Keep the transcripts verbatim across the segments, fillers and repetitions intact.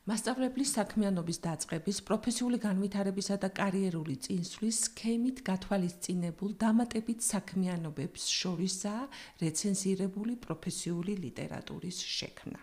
მასწავლებლის საქმიანობის დაწყების, პროფესიული განვითარებისა და კარიერული წინსვლის სქემით გათვალისწინებულ დამატებით საქმიანობებს შორისაა რეცენზირებული პროფესიული ლიტერატურის შექმნა.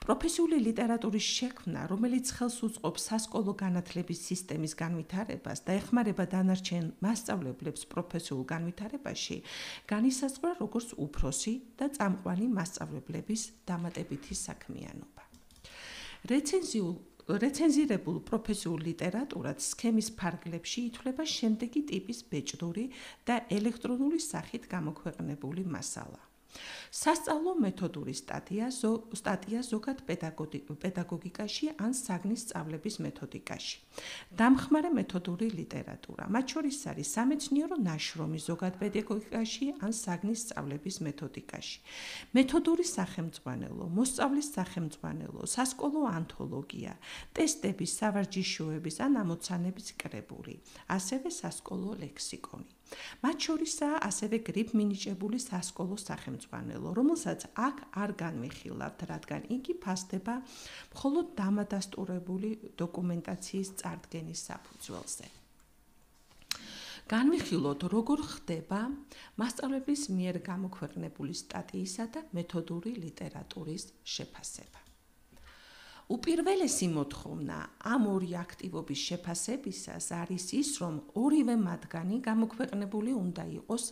პროფესიული ლიტერატურის შექმნა, რომელიც ხელს უწყობს სასკოლო განათლების სისტემის განვითარებას და ეხმარება დანარჩენ მასწავლებლებს პროფესიულ განვითარებაში, განისაზღვრა როგორც უფროსი და წამყვანი მასწავლებლების დამატებითი საქმიანობა. რეცენზიულ რეცენზირებულ პროფესიულ ლიტერატურად სქემის ფარგლებში ითვლება შემდეგი ტიპის ბეჭდური და ელექტრონული სახით გამოქვეყნებული მასალა. სასწავლო მეთოდური სტატია, სტატია ზოგად პედაგოგიკაში ან საგნის სწავლების მეთოდიკაში. დამხმარე მეთოდური ლიტერატურა, მათ შორის არის სამეცნიერო ნაშრომი ზოგად პედაგოგიკაში ან საგნის სწავლების მეთოდიკაში. მეთოდური სახელმძღვანელო, მოსწავლის სახელმძღვანელო, სასკოლო ანთოლოგია, ტესტების, სავარჯიშოების ან ამოცანების კრებული, ასევე სასკოლო ლექსიკონი. მათ შორისაა ასევე გრიფ მინიჭებული სასკოლო სახელმძღვანელო, რომელსაც აქ არ განვიხილავთ, რადგან იგი ფასდება მხოლოდ დამადასტურებული დოკუმენტაციის წარდგენის საფუძველზე. განვიხილოთ, როგორ ხდება მასწავლებლის მიერ გამოქვეყნებული სტატიისა და მეთოდური ლიტერატურის შეფასება. უპირველესი მოთხოვნა ამ ორი აქტივობის შეფასებისას არის ის, რომ ორივე მათგანი გამოქვეყნებული უნდა იყოს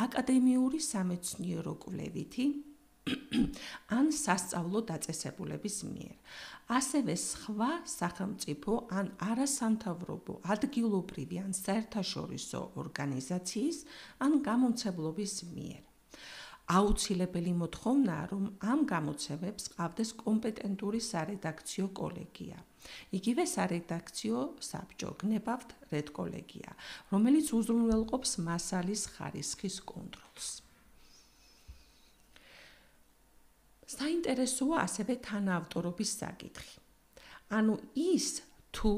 აკადემიური სამეცნიერო კვლევითი ან სასწავლო დაწესებულების მიერ. ასევე სხვა სახელმწიფო ან არასამთავრობო ადგილობრივი ან საერთაშორისო ორგანიზაციის ან გამომცემლობის მიერ. აუცილებელი მოთხოვნაა, რომ ამ გამოცემებს ყავდეს კომპეტენტური სარედაქციო კოლეგია. იგივე სარედაქციო საბჭო, გნებავთ რედკოლეგია, რომელიც უზრუნველყოფს მასალის ხარისხის კონტროლს. საინტერესოა ასევე თანაავტორობის საკითხი. ანუ ის, თუ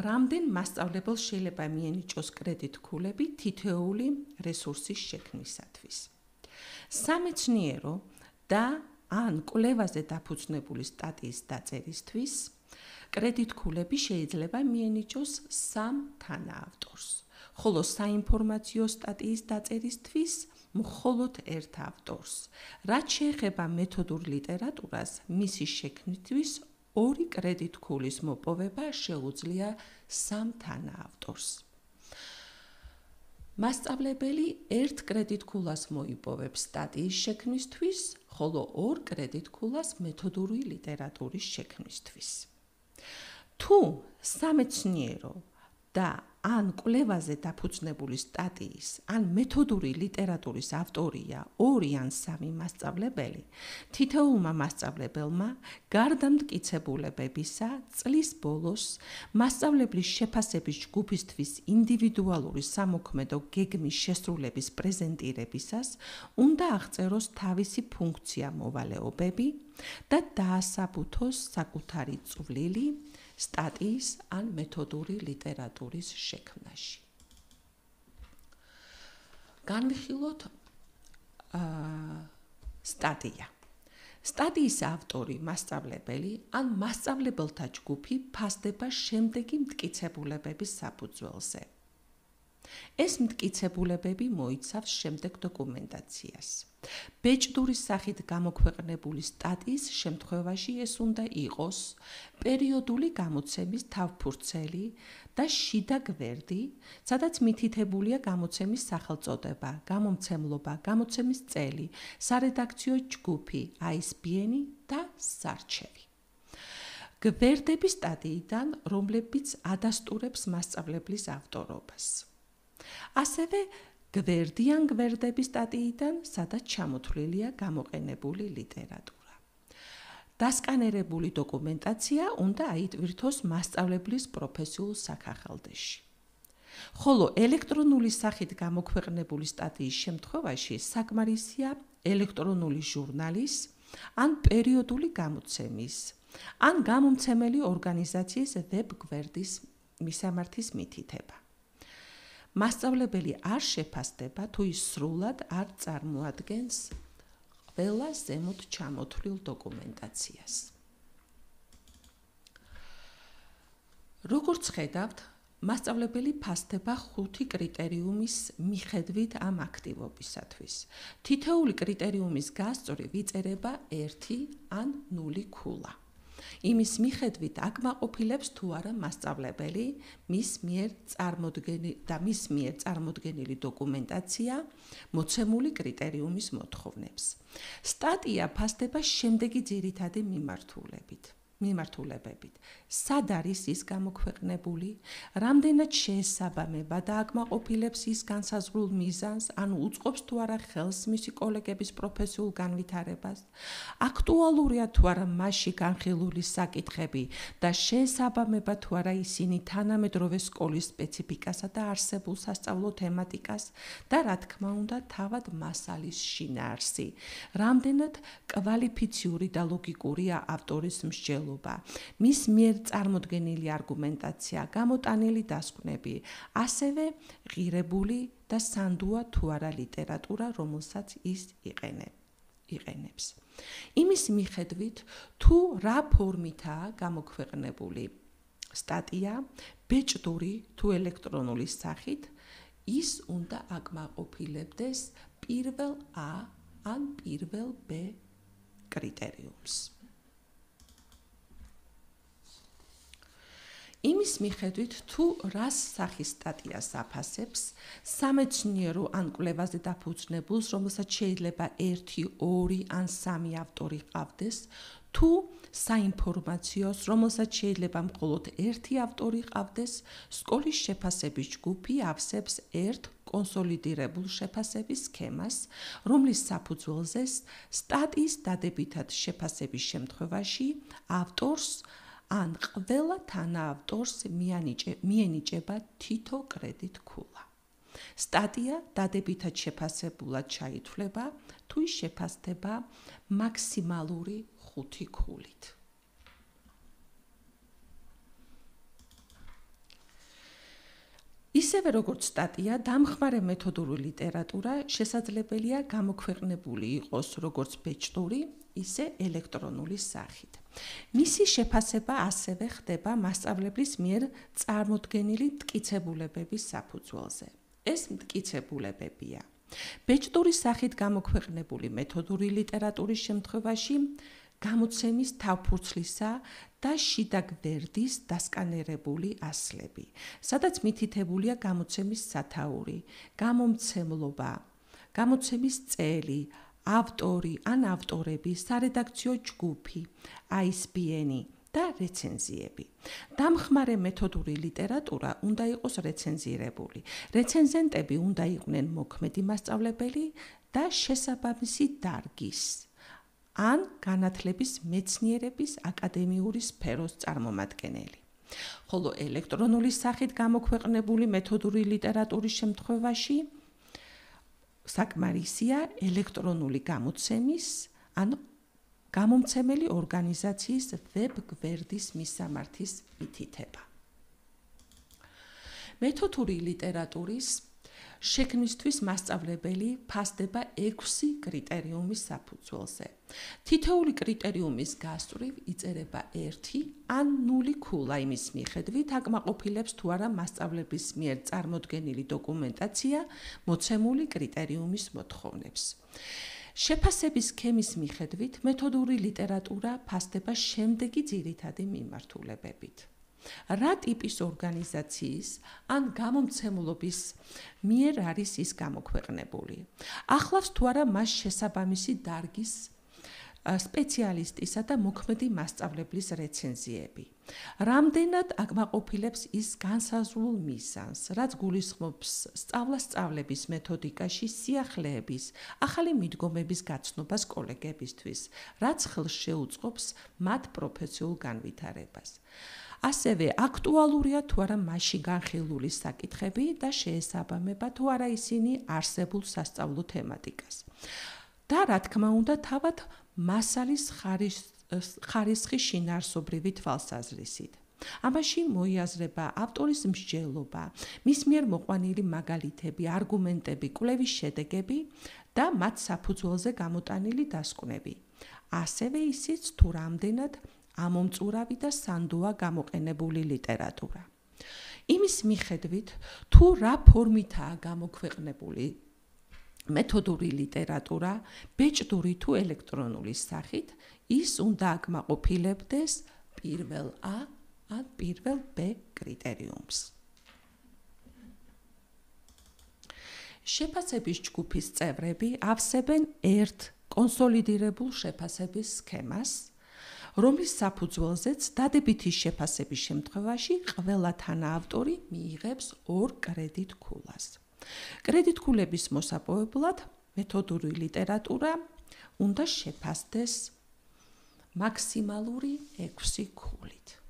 რამდენ მასწავლებელს შეიძლება მიენიჭოს კრედიტქულები თითოეული რესურსის შექმნისათვის. სამეცნიერო და ან კვლევაზე დაფუძნებული სტატიის დაწერისთვის კრედიტქულები შეიძლება მიენიჭოს სამ თანაავტორს, ხოლო საინფორმაციო სტატიის დაწერისთვის მხოლოდ ერთ ავტორს. რაც შეეხება მეთოდურ ლიტერატურას, მისი შექმნისთვის ორი კრედიტქულის მოპოვება შეუძლია სამ თანაავტორს. მასწავლებელი ერთ კრედიტქულას მოიპოვებს სტატიის შექმნისთვის, ხოლო ორ კრედიტქულას მეთოდური ლიტერატურის შექმნისთვის. თუ სამეცნიერო და ან კვლევაზე დაფუძნებული სტატიის ან მეთოდური ლიტერატურის ავტორია ორი ან სამი მასწავლებელი, თითოეულმა მასწავლებელმა გარდა მტკიცებულებებისა წლის ბოლოს მასწავლებლის შეფასების ჯგუფისთვის ინდივიდუალური სამოქმედო გეგმის შესრულების პრეზენტირებისას უნდა აღწეროს თავისი ფუნქცია მოვალეობები და დაასაბუთოს საკუთარი წვლილი სტატიის ან მეთოდური ლიტერატურის შექმნაში. განვიხილოთ სტატია. სტატიის ავტორი, მასწავლებელი ან მასწავლებელთა ჯგუფი ფასდება შემდეგი მტკიცებულებების საფუძველზე. ეს მტკიცებულებები მოიცავს შემდეგ დოკუმენტაციას. ბეჭდურის სახით გამოქვეყნებული სტატიის შემთხვევაში ეს უნდა იყოს პერიოდული გამოცემის თავფურცელი და შიდა გვერდი, სადაც მითითებულია გამოცემის სახელწოდება, გამომცემლობა, გამოცემის წელი, სარედაქციო ჯგუფი, აი ეს ბი ენი და სარჩევი. გვერდები სტატიიდან, რომლებიც ადასტურებს მასწავლებლის ავტორობას. ასევე გვერდი ან გვერდები სტატიიდან, სადაც ჩამოთვლილია გამოყენებული ლიტერატურა. დასკანერებული დოკუმენტაცია უნდა აიტვირთოს მასწავლებლის პროფესიულ საქახალდეში. ხოლო ელექტრონული სახით გამოქვეყნებული სტატიის შემთხვევაში საკმარისია ელექტრონული ჟურნალის ან პერიოდული გამოცემის ან გამომცემელი ორგანიზაციის ვებ გვერდის მისამართის მითითება. მასწავლებელი არ შეფასდება, თუ ის სრულად არ წარმოადგენს ყველა ზემოთ ჩამოთვლილ დოკუმენტაციას. როგორც ხედავთ, მასწავლებელი ფასდება ხუთი კრიტერიუმის მიხედვით ამ აქტივობისათვის. თითოეული კრიტერიუმის გასწორი ვიწერება ერთი ან ნული ქულა. იმის მიხედვით აკმაყოფილებს თუ არა მასწავლებელი მის მიერ წარმოდგენილი და მის მიერ წარმოდგენილი დოკუმენტაცია მოცემული კრიტერიუმის მოთხოვნებს. სტატია ფასდება შემდეგი ძირითადი მიმართულებით. მიმართულებებით. სად არის ის გამოქვეყნებული, რამდენად შეესაბამება და აკმაყოფილებს ის განსაზღვრულ მიზანს, ანუ უწყობს თუ არა ხელს მისი კოლეგების პროფესიულ განვითარებას, აქტუალურია თუ არა მასში განხილული საკითხები და შეესაბამება თუ არა ისინი თანამედროვე სკოლის სპეციფიკასა და არსებულ სასწავლო თემატიკას და რა თქმა უნდა თავად მასალის შინაარსი, რამდენად კვალიფიციური და ლოგიკურია ავტორის მსჯელობა. მის მიერ წარმოდგენილი არგუმენტაცია, გამოტანილი დასკვნები, ასევე ღირებული და სანდუა თუ არა ლიტერატურა, რომელსაც ის იყენებს. იმის მიხედვით, თუ რა ფორმითაა გამოქვეყნებული სტატია, ბეჭდური თუ ელექტრონული სახით, ის უნდა აკმაყოფილებდეს პირველ A ან პირველ B კრიტერიუმს. იმის მიხედვით, თუ რას სახის სტატიას აფასებს, სამეცნიერო ან კვლევაზე დაფუძნებულს, რომელსაც შეიძლება ერთი, ორი ან სამი ავტორი ყავდეს, თუ საინფორმაციოს, რომელსაც შეიძლება მხოლოდ ერთი ავტორი ყავდეს, სკოლის შეფასების ჯგუფი ავსებს ერთ კონსოლიდირებულ შეფასების სქემას, რომლის საფუძველზე სტატიის დადებითად შეფასების შემთხვევაში ავტორს ან ყველა თანაავტორს მიენიჭება თითო კრედიტ ქულა. სტატია დადებითად შეფასებულად ჩაითვლება, თუ ის შეფასდება მაქსიმალური ხუთი ქულით. ისევე როგორც სტატია, დამხმარე მეთოდური ლიტერატურა შესაძლებელია გამოქვეყნებული იყოს როგორც ბეჭდური, ისე ელექტრონული სახით. მისი შეფასება ასევე ხდება მასწავლებლის მიერ წარმოდგენილი მტკიცებულებების საფუძველზე. ეს მტკიცებულებებია: ბეჭდური სახით გამოქვეყნებული მეთოდური ლიტერატურის შემთხვევაში გამოცემის თავფურცლისა და შიდა გვერდის დასკანერებული ასლები, სადაც მითითებულია გამოცემის სათაური, გამომცემლობა, გამოცემის წელი, ავტორი ან ავტორები, სარედაქციო ჯგუფი, აი ეს ბი ენი და რეცენზიები. დამხმარე მეთოდური ლიტერატურა უნდა იყოს რეცენზირებული. რეცენზენტები უნდა იყვნენ მოქმედი მასწავლებელი და შესაბამისი დარგის ან განათლების მეცნიერების აკადემიური სფეროს წარმომადგენელი. ხოლო ელექტრონული სახით გამოქვეყნებული მეთოდური ლიტერატურის შემთხვევაში საკმარისია ელექტრონული გამოცემის ან გამომცემელი ორგანიზაციის ვებ გვერდის მისამართის მითითება. მეთოდური ლიტერატურის შექმნისთვის მასწავლებელი ფასდება ექვსი კრიტერიუმის საფუძველზე. თითოეული კრიტერიუმის გასწვრივ იწერება ერთი ან ნული ქულა იმის მიხედვით, აკმაყოფილებს თუ არა მასწავლების მიერ წარმოდგენილი დოკუმენტაცია მოცემული კრიტერიუმის მოთხოვნებს. შეფასების სქემის მიხედვით მეთოდური ლიტერატურა ფასდება შემდეგი ძირითადი მიმართულებებით. რა ტიპის ორგანიზაციის ან გამომცემლობის მიერ არის ის გამოქვეყნებული? ახლავს თუ არა მას შესაბამისი დარგის სპეციალისტისა და მოქმედი მასწავლებლის რეცენზიები? რამდენად აკმაყოფილებს ის განსაზღვრულ მიზანს, რაც გულისხმობს სწავლა-სწავლების მეთოდიკაში სიახლეების, ახალი მიდგომების გაცნობას კოლეგებისთვის, რაც ხელს შეუწყობს მათ პროფესიულ განვითარებას? ასევე აქტუალურია თუ არა მასში განხილული საკითხები და შეესაბამება თუ არა ისინი არსებულ სასწავლო თემატიკას. და რა თქმა უნდა, თავად მასალის ხარისხის შინაარსობრივი თვალსაზრისით. ამაში მოიაზრება ავტორის მსჯელობა, მის მიერ მოყვანილი მაგალითები, არგუმენტები, კვლევის შედეგები და მათ საფუძველზე გამოტანილი დასკვნები. ასევე ისიც თუ რამდენად ამომწურავი და სანდოა გამოყენებული ლიტერატურა. იმის მიხედვით, თუ რა ფორმითაა გამოქვეყნებული მეთოდური ლიტერატურა, ბეჭდური თუ ელექტრონული სახით, ის უნდა აკმაყოფილებდეს პირველ A ან პირველ B კრიტერიუმს. შეფასების ჯგუფის წევრები ავსებენ ერთ კონსოლიდირებულ შეფასების სქემას, რომლის საფუძველზეც დადებითი შეფასების შემთხვევაში ყველა თანაავტორი მიიღებს ორ კრედიტ ქულას. კრედიტ ქულების მოსაპოვებლად მეთოდური ლიტერატურა უნდა შეფასდეს მაქსიმალური ექვსი ქულით.